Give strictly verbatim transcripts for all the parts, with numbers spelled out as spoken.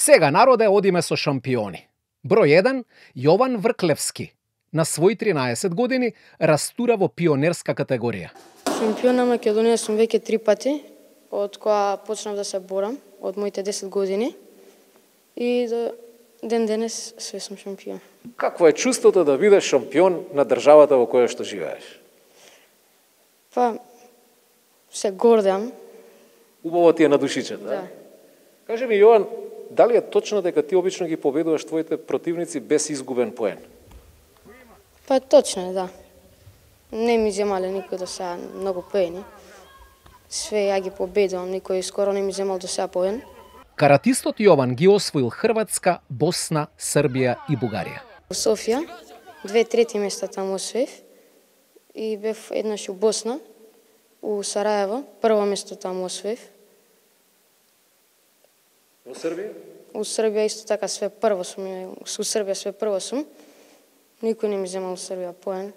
Сега, народе, одиме со шампиони. Број еден, Јован Врклевски. На своји тринаесет години растура во пионерска категорија. Шампион на Македонија сум веќе три пати, од кога почнав да се борам, од моите десет години. И до ден денес све сум шампион. Какво е чувството да бидеш шампион на државата во која што живееш? Па, се гордам. Убаво ти е на душичето, Да. Кажи ми, Јован, дали е точно дека ти обично ги победуваш твоите противници без изгубен поен? Па точно е, да. Не ми земале никој до сега многу поени. Све ја ги победувам, никој скоро не ми земал до сега поен. Каратистот Јован ги освоил Хрватска, Босна, Србија и Бугарија. Во Софија, две трети места таму освоив. И бев еднаш у Босна, у Сараево, прво место таму освоив. Во Србија? У Србија исто така све прво сум, у Србија све прво сум. Никој не ми земал у Србија поен.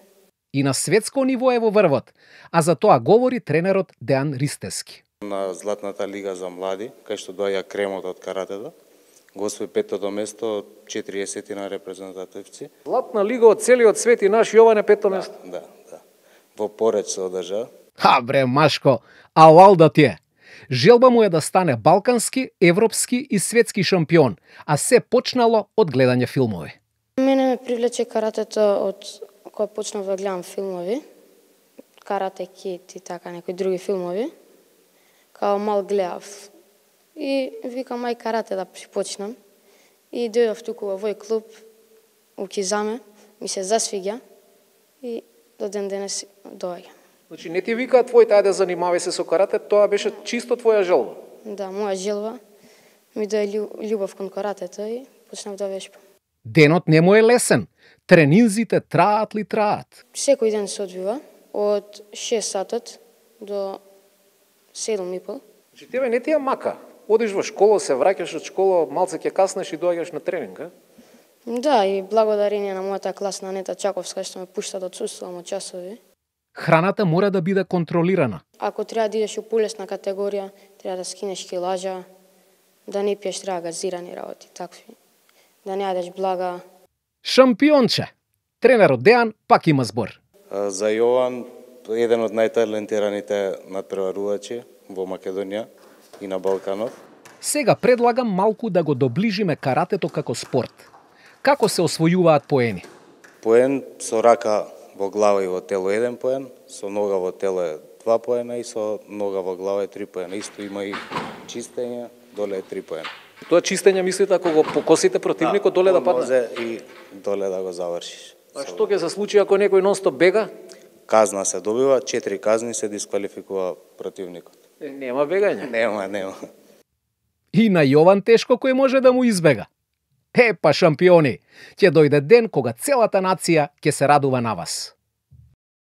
И на светско ниво е во врвот, а за тоа говори тренерот Дејан Ристевски. На Златната лига за млади, кај што доаѓа кремот од каратето, го освои петото место од четириесет на репрезентативци. Златна лига од целиот свет и наш Јован е петто место. Да, да. Во Пореч се одржа. Ха бре, Машко, алал да ти е. Желба му е да стане балкански, европски и светски шампион, а се почнало од гледање филмови. Мене ме привлече каратето од кога почнав да гледам филмови, Карате Кид и така некои други филмови. Као мал гледав. И викам ај карате да почнам. И дојдов туку во овој клуб, у Кизаме, ми се засвиѓа и до ден денес доаѓа. Значи не ти викаат твоите ајде занимавај се со карате, тоа беше чисто твоја желба. Да, моја желба ми дое љубов кон каратето и почнав да вешбам. Денот не му е лесен. Тренинзите траат ли траат. Секој ден се одвива од шест сатот до седум и пол. Значи тебе не ти е мака. Одиш во школа, се враќаш од школа, малце ќе каснеш и доаѓаш на тренинг, а? Да, и благодарение на мојата класна Нета Чаковска што ме пушта да отсуствувам од часови. Храната мора да биде контролирана. Ако треба да идеш у полесна категорија, треба да скинеш килажа, да не пиеш треба газирани работи, такви. Да не јадеш блага. Шампионче! Тренерот Дејан пак има збор. За Јован, еден од најталентираните надпреварувачи во Македонија и на Балканот. Сега предлагам малку да го доближиме каратето како спорт. Како се освојуваат поени? Поен со рака во глава и во тело еден поен, со нога во тело е два поена и со нога во глава е три поена. Исто има и чистење, доле е три поена. Тоа чистење мислите ако го покосите противникот доле да падне? Може и доле да го завршиш. А што ќе се случи ако некој нонстоп бега? Казна се добива, четири казни се дисквалификува противникот. Е, нема бегање. Нема, нема. И на Јован тешко кој може да му избега. Е, па шампиони, ќе дојде ден кога целата нација ќе се радува на вас.